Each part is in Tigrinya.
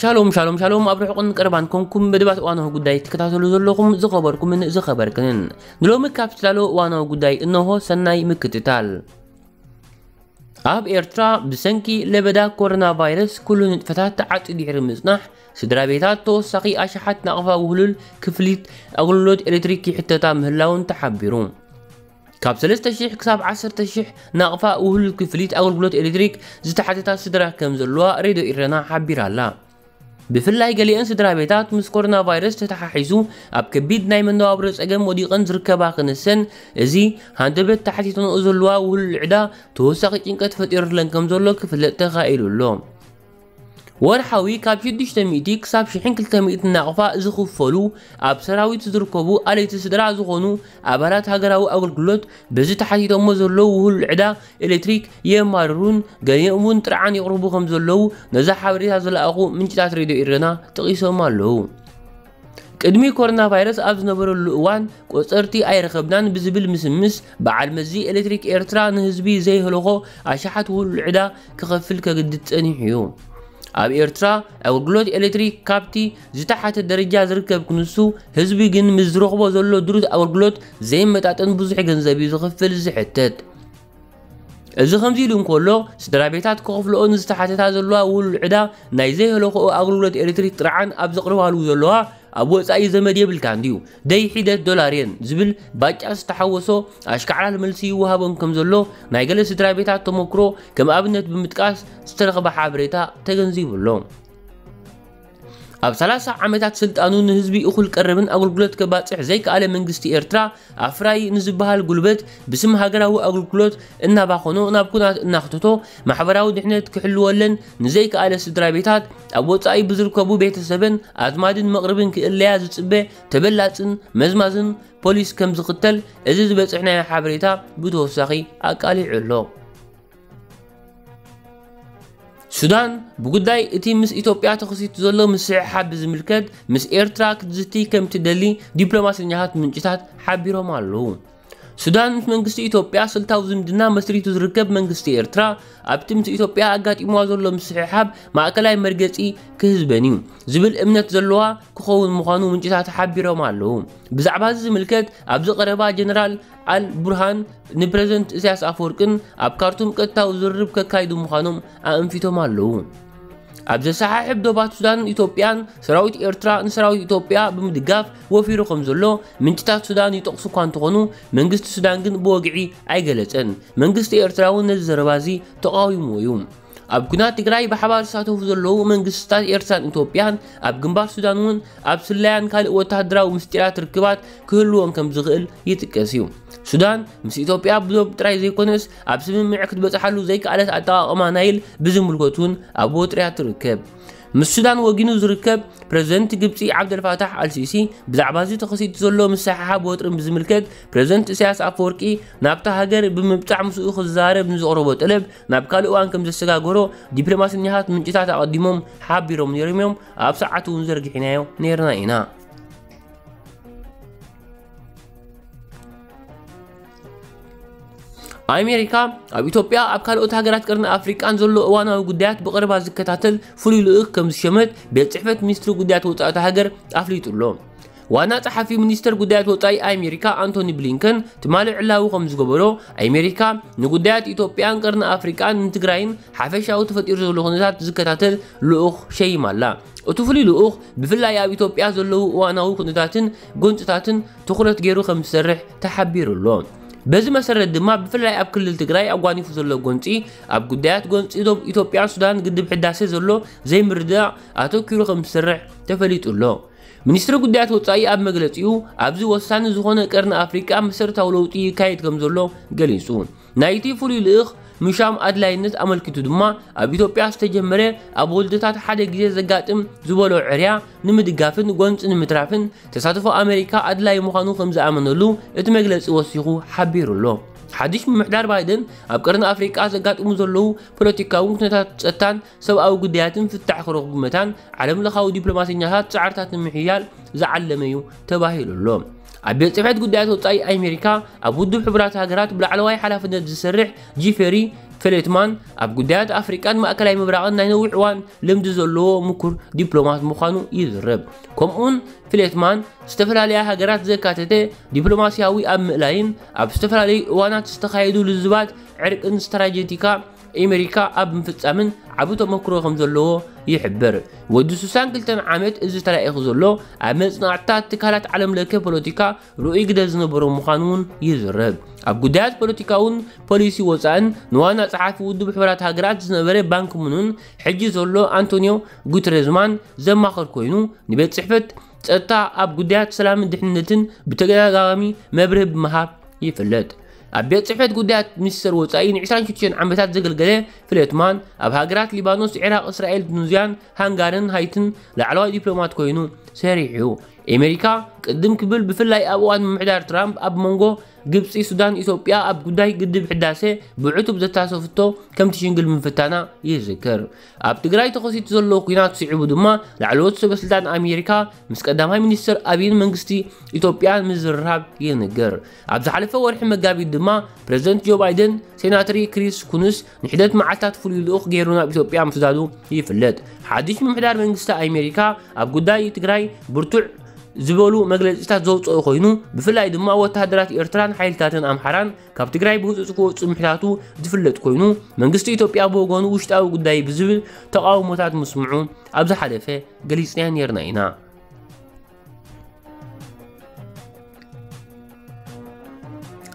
ሻሎም ሻሎም ሻሎም፣ ኣብ ርሑቕን ቀረባን ኮንኩም መደባት እዋናዊ ጉዳይ ትከታተሉ ዘለኹም ዝኸበርኩምን ዝኸበርክንን፣ ንሎሚ ካብ ትላሎ እዋናዊ ጉዳይ እነሆ። ሰናይ ምክትታል። ኣብ ኤርትራ ብሰንኪ ለበዳ ኮሮና ቫይረስ ኩሉ ንጥፈታት ተዓጽዩ ድሕሪ ምጽናሕ፣ ስድራ ቤታት ተወሳኺ ኣሽሓት ናቕፋ ውህሉል ክፍሊት ኣገልግሎት ኤሌክትሪክ ይሕተታ ምህላውን ተሓቢሩ። ካብ ሰለስተ ሽሕ ክሳብ ዓሰርተ ሽሕ ናቕፋ ውህሉል ክፍሊት ኣገልግሎት ኤሌክትሪክ ዝተሓተታ ስድራ ከም ዘለዋ ሬድዮ ኢረና ሓቢራ ኣላ። ብፍላይ ገሊአን ስድራ ቤታት ምስ ኮሮና ቫይረስ ተተሓሒዙ ኣብ ከቢድ ናይ መነባብሮ ጸገም ወዲቐን ዝርከባ ክነሰን፣ እዚ ሃንደበት ተሓቲተንኦ ዘለዋ ውህሉል ዕዳ ተወሳኺ ጭንቀት ፈጢሩለን ከም ዘሎ ክፍለጥ ተኻኢሉ ኣሎ። ወርሓዊ ካብ ሽዱሽተ ሚእቲ ክሳብ ሽሕን ክልተ ሚእትን ናቕፋ ዝኽፈሉ ኣብ ሰራዊት ዝርከቡ ኣለይቲ ስድራ ዝኾኑ ኣባላት ሃገራዊ ኣገልግሎት በዚ ተሓቲቶሞ ዘለዉ ውህሉል ዕዳ ኤሌክትሪክ የማርሩን ገሊኦም እውን ጥርዓን የቕርቡ ከም ዘለዉ ነዛ ሓበሬታ ዝለኣኹ ምንጭታት ሬድዮ ኢረና ጠቒሶም ኣለዉ። ቅድሚ ኮሮና ቫይረስ ኣብ ዝነበረሉ እዋን ቆጸርቲ ኣይረኸብናን ብዝብል ምስምስ በዓል መዚ ኤሌክትሪክ ኤርትራ ንህዝቢ ዘይህለኾ ኣሽሓት ውህሉል ዕዳ ክኸፍል ከግድድ ጸኒሑ እዩ። ኣብ ኤርትራ ኣገልግሎት ኤሌክትሪክ ካብቲ ዝተሓተ ደረጃ ዝርከብ ክንሱ፣ ህዝቢ ግን ምስ ዝረኽቦ ዘሎ ድሩት ኣገልግሎት ዘይመጣጠን ብዙሕ ገንዘብ እዩ ዝኽፍል ዝሕተት። እዚ ከምዚ ኢሉ እንከሎ፣ ስድራ ቤታት ክኸፍልኦ ንዝተሓተታ ዘለዋ ውሉዕ ዕዳ ናይ ዘይህለኽኦ ኣገልግሎት ኤሌክትሪክ ጥርዓን ኣብ ዘቕርባሉ ዘለዋ፣ ኣብ ወጻኢ ዘመድ የብልካን ድዩ? ደይ ሒደት ዶላር የን ዝብል ባጫ ዝተሓወሶ ኣሽካዕላል መልሲ ይወሃቦም ከም ዘሎ ናይ ገለ ስድራ ቤታት ተመክሮ ከም ኣብነት ብምጥቃስ ዝተረኽበ ሓበሬታ ተገንዚቡ ኣሎ። ኣብ ሰላሳ ዓመታት ስልጣኑ ንህዝቢ እኹል ቀረብን ኣገልግሎት ከባጽሕ ዘይከኣለ መንግስቲ ኤርትራ፣ ኣፍራዪ ንዝበሃል ጉልበት ብስም ሃገራዊ ኣገልግሎት እናባኸኖ ናብ ኩናት እናኽተቶ፣ ማሕበራዊ ድሕነት ክሕልወለን ንዘይከኣለ ስድራ ቤታት ኣብ ወጻኢ ብዝርከቡ ቤተሰበን ኣዝማድን መቕርብን ክእለያ ዝጽበ ተበላጽን መዝማዝን ፖሊስ ከም ዝኽተል እዚ ዝበጽሕናዮ ሓበሬታ ብተወሳኺ ኣቃሊዑ ኣሎ። ሱዳን ብጉዳይ እቲ ምስ ኢትዮጵያ ተኸሲቱ ዘሎ ምስሕሓብ ብዝምልከት ምስ ኤርትራ ክትዝቲ ከም ትደሊ ዲፕሎማሰኛታት ምንጭታት ሓቢሮም ኣለዉ። ሱዳን ምስ መንግስቲ ኢትዮጵያ ስልታዊ ዝምድና መስሪቱ ዝርከብ መንግስቲ ኤርትራ ኣብቲ ምስ ኢትዮጵያ ኣጋጢምዋ ዘሎ ምስሕሓብ ማእከላይ መርገጺ ክህዝበን እዩ ዝብል እምነት ዘለዋ ክኸውን ምዃኑ ምንጭታት ሓቢሮም ኣለዉ። ብዛዕባ እዚ ዝምልከት ኣብዚ ቀረባ ጀነራል ኣል ቡርሃን ንፕረዚደንት ኢሳያስ ኣፈወርቅን ኣብ ካርቱም ቀጥታዊ ዝርርብ ከካይዱ ምዃኖም ኣእንፊቶም ኣለዉ። ኣብ ዘሰሓሕብ ዶባት ሱዳንን ኢትዮጵያን ሰራዊት ኤርትራ ንሰራዊት ኢትዮጵያ ብምድጋፍ ወፊሩ ከም ዘሎ ምንጭታት ሱዳን ይጠቕሱ እኳ እንተኾኑ፣ መንግስቲ ሱዳን ግን ብወግዒ ኣይገለጸን። መንግስቲ ኤርትራ እውን ነዚ ዘረባ እዚ ተቓዊምዎ እዩ። ኣብ ኩናት ትግራይ ብሓባር ዝሳተፉ ዘለዉ መንግስታት ኤርትራን ኢትዮጵያን ኣብ ግንባር ሱዳን እውን ኣብ ስለያን ካልእ ወተሃደራዊ ምስጢራት ርክባት ክህልዎም ከም ዝኽእል ይጥቀስ እዩ። ሱዳን ምስ ኢትዮጵያ ብዶብ ጥራይ ዘይኮነስ ኣብ ስምምዕ ክትበጽሓሉ ዘይከኣለት ኣጠቓቕማ ናይል ብዝምልከት እውን ኣብ ወጥርያ ትርከብ። ምስ ሱዳን ወጊኑ ዝርከብ ፕረዚደንት ግብጺ ዓብደልፋታሕ ኣልሲሲ ብዛዕባ እዚ ተኸሲቱ ዘሎ ምስሕሓብ ወጥርን ብዝምልከት ፕረዚደንት ኢሳያስ ኣፈወርቂ ናብታ ሃገር ብምብጻሕ ምስኡ ክዛረብ ንዘቕረቦ ጠለብ ናብ ካልእ እዋን ከም ዘሰጋገሮ ዲፕሎማሰኛታት ምንጭታት ኣቐዲሞም ሓቢሮም ነይሮም እዮም። ኣብ ሰዓቱ እውን ዘርጊሕናዮ ነይርና ኢና። ኣሜሪካ ኣብ ኢትዮጵያ ኣብ ካልኦት ሃገራት ቀርኒ ኣፍሪቃን ዘሎ እዋናዊ ጉዳያት ብቐረባ ዝከታተል ፍሉይ ልኡኽ ከም ዝሸመት ቤት ጽሕፈት ሚኒስትሪ ጉዳያት ወጻኢ እታ ሃገር ኣፍሊጡ ኣሎ። ዋና ጸሓፊ ሚኒስተር ጉዳያት ወጻኢ ኣሜሪካ ኣንቶኒ ብሊንከን ትማሊ ዕላዊ ከም ዝገበሮ፣ ኣሜሪካ ንጉዳያት ኢትዮጵያን ቀርኒ ኣፍሪቃን ንትግራይን ሓፈሻዊ ተፈጢሩ ዘሎ ኩነታት ዝከታተል ልኡኽ ሸይማ ኣላ። እቲ ፍሉይ ልኡኽ ብፍላይ ኣብ ኢትዮጵያ ዘለዉ እዋናዊ ኩነታትን ጎንጽታትን ትኹረት ገይሩ ከም ዝሰርሕ ተሓቢሩ ኣሎ። በዚ መሰረት ድማ ብፍላይ ኣብ ክልል ትግራይ ኣጓኒፉ ዘሎ ጎንጺ፣ ኣብ ጉዳያት ጎንጺ ዶብ ኢትዮጵያን ሱዳን ግድብ ሕዳሴ ዘሎ ዘይምርድዳእ ኣተኪሩ ከም ዝሰርሕ ተፈሊጡ ኣሎ። ሚኒስትሪ ጉዳያት ወጻኢ ኣብ መግለጺኡ፣ ኣብዚ ወሳኒ ዝኾነ ቀርኒ ኣፍሪቃ መሰረታዊ ለውጢ ይካየድ ከም ዘሎ ገሊጹ። ናይቲ ፍሉይ ልኡኽ ምሻም ኣድላይነት ኣመልኪቱ ድማ፣ ኣብ ኢትዮጵያ ዝተጀመረ ኣብ ወለዶታት ሓደ ግዜ ዘጋጥም ዝበሎ ዕርያ ንምድጋፍን ጎንጺ ንምትራፍን ተሳትፎ ኣሜሪካ ኣድላዪ ምዃኑ ከም ዝኣመነሉ እቲ መግለጺ ወሲኹ ሓቢሩ ኣሎ። ሓድሽ ምምሕዳር ባይደን ኣብ ቀርኒ ኣፍሪቃ ዘጋጥሙ ዘለዉ ፖለቲካውን ኩነታት ጸጥታን ሰብኣዊ ጉዳያትን ፍታሕ ክረኽቡ መታን ዓለምለኻዊ ዲፕሎማሰኛታት ጻዕርታት ንምሕያል ዝዓለመ እዩ ተባሂሉ ኣሎ። ኣብ ቤት ጽሕፈት ጉዳያት ወጻኢ ኣሜሪካ ኣብ ውድብ ሕቡራት ሃገራት ብላዕለዋይ ሓላፍነት ዝሰርሕ ጂፈሪ ፍሌትማን ኣብ ጉዳያት ኣፍሪቃን ማእከላይ ምብራቕን ናይ ነዊሕ እዋን ልምዲ ዘለዎ ምኩር ዲፕሎማት ምዃኑ ይዝረብ። ከምኡውን ፍሌትማን ዝተፈላለያ ሃገራት ዘካተተ ዲፕሎማሲያዊ ኣብ ምእላይን ኣብ ዝተፈላለዩ እዋናት ዝተኻየዱ ልዝባት ዕርቅን ስትራቴጂካ ኣሜሪካ ኣብ ምፍጻምን ዓቢ ተመክሮ ከም ዘለዎ ይሕብር። ወዲ ስሳን ክልተን ዓመት እዚ ተላኢኹ ዘሎ ኣብ መጽናዕትታት ትካላት ዓለም ለከ ፖለቲካ ርኡይ ግደ ዝነበሮ ምዃኑ እውን ይዝረብ። ኣብ ጉዳያት ፖለቲካውን ፖሊሲ ወጻእን ንዋና ጸሓፊ ውድብ ሕቡራት ሃገራት ዝነበረ ባንኪሙንን ሕጂ ዘሎ ኣንቶኒዮ ጉተሬዝማን ዘማኸር ኮይኑ ንቤት ጽሕፈት ጸጥታ ኣብ ጉዳያት ሰላምን ድሕንነትን ብተደጋጋሚ መብርሂ ብምሃብ ይፍለጥ። ኣብ ቤት ጽሕፈት ጉዳያት ሚኒስተር ወጻኢ ን ዕስራን ሽዱሽተን ዓመታት ዘገልገለ ፍሌትማን ኣብ ሃገራት ሊባኖስ፣ ዒራቕ፣ እስራኤል፣ ቱኒዝያን ሃንጋርን ሃይትን ላዕለዋይ ዲፕሎማት ኮይኑ ሰሪሑ። ኣሜሪካ ቅድም ክብል ብፍላይ ኣብ እዋን ምምሕዳር ትራምፕ ኣብ መንጎ ግብጺ፣ ሱዳን፣ ኢትዮጵያ ኣብ ጉዳይ ግድብ ሕዳሴ ብዕቱብ ዘታሰፍቶ ከም ትሽንግል ምፍታና ይዝከር። ኣብ ትግራይ ተኸሲቱ ዘሎ ኲናት ስዒቡ ድማ ላዕለዎት ሰበስልጣን ኣሜሪካ ምስ ቀዳማይ ሚኒስትር ኣብይን መንግስቲ ኢትዮጵያ ምዝርራብ ይንገር። ኣብ ዝሓለፈ ወርሒ መጋቢት ድማ ፕሬዝደንት ጆ ባይደን ሴናተሪ ክሪስ ኩንስ ንሒደት መዓልታት ፍሉይ ልኡኽ ገይሩ ናብ ኢትዮጵያ ምስዳዱ ይፍለጥ። ሓድሽ ምምሕዳር መንግስቲ ኣሜሪካ ኣብ ጉዳይ ትግራይ ብርቱዕ ዝበሉ መግለጺታት ዘውፅኦ ኮይኑ፣ ብፍላይ ድማ ወተሃደራት ኤርትራን ሓይልታትን ኣምሓራን ካብ ትግራይ ብህፁፅ ክወፁ ምሕታቱ ዝፍለጥ ኮይኑ፣ መንግስቲ ኢትዮጵያ ብወገኑ ውሽጣዊ ጉዳይ ብዝብል ተቃውሞታት ምስምዑ ኣብ ዝሓለፈ ገሊፅናዮ ነይርና ኢና።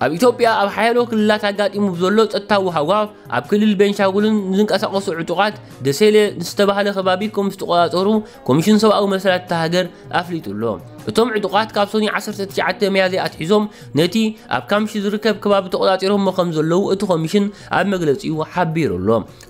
ኣብ ኢትዮጵያ ኣብ ሓያሎ ክልላት ኣጋጢሙ ብዘሎ ጸጥታዊ ሃዋፍ ኣብ ክልል ቤንሻንጉልን ዝንቀሳቐሱ ዕጡቓት ደሴለ ዝተባህለ ከባቢ ከም ዝተቆጻጸሩ ኮሚሽን ሰብኣዊ መሰላት እታ ሃገር ኣፍሊጡ ኣሎ። እቶም ዕጡቓት ካብ ሰኑይ ዓሰርተ ትሽዓተ ሚያዝያ ኣትሒዞም ነቲ ኣብ ካምሺ ዝርከብ ከባቢ ተቆጻጺሮሞ ከም ዘለዉ እቲ ኮሚሽን ኣብ መግለጺኡ ሓቢሩ ኣሎ።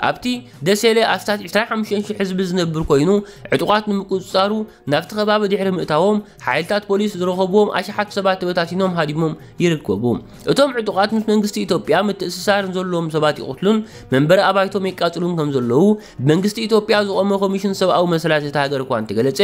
ኣብቲ ደሴለ ኣስታት ዕስራን ሓሙሽተን ሽሕ ህዝቢ ዝነብር ኮይኑ ዕጡቓት ንምቁጽጻሩ ናብቲ ከባቢ ድሕሪ ምእታዎም፣ ሓይልታት ፖሊስ ዝረኸብዎም ኣሽሓት ሰባት ተበታቲኖም ሃዲሞም ይርከቡ። እቶም ዕጡቓት ምስ መንግስቲ ኢትዮጵያ ምትእስሳር ዘለዎም ሰባት ይቕትሉን መንበሪ ኣባይቶም የቃጽሉን ከም ዘለዉ ብመንግስቲ ኢትዮጵያ ዝቖመ ኮሚሽን ሰብኣዊ መሰላት እታ ሃገር እኳ እንተገለጸ፣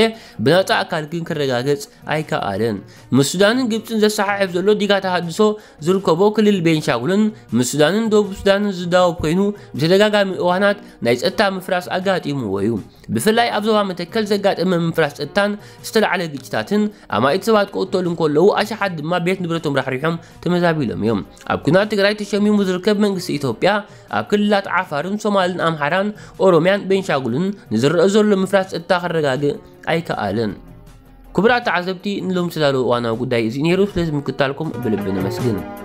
ብናጻ ኣካል ግን ክረጋገጽ ኣይከኣለን። ምስ ሱዳንን ግብጽን ዘሰሓሕብ ዘሎ ዲጋ ተሃድሶ ዝርከቦ ክልል ቤንሻንጉልን ምስ ሱዳንን ደቡብ ሱዳንን ዝዳወብ ኮይኑ ብተደጋጋሚ እዋናት ናይ ጸጥታ ምፍራስ ኣጋጢምዎ እዩ። ብፍላይ ኣብ ዞባ መተከል ዘጋጠመ ምፍራስ ጸጥታን ዝተላዕለ ግጭታትን ኣማኢት ሰባት ክቕተሉ እንከለዉ ኣሽሓት ድማ ቤት ንብረቶም ራሕሪሖም ተመዛቢሎም እዮም። ኣብ ኩናት ትግራይ ተሸሚሙ ዝርከብ መንግስቲ ኢትዮጵያ ኣብ ክልላት ዓፋርን ሶማልን ኣምሓራን ኦሮምያን ቤንሻንጉልን ንዝረአ ዘሎ ምፍራስ ጸጥታ ከረጋግእ ኣይከኣለን። ክቡራት ተዓዘብቲ ንሎም ዝተዳለወ እዋናዊ ጉዳይ እዚ ነይሩ። ስለዚ ምክታልኩም ብልቢ ነመስግን።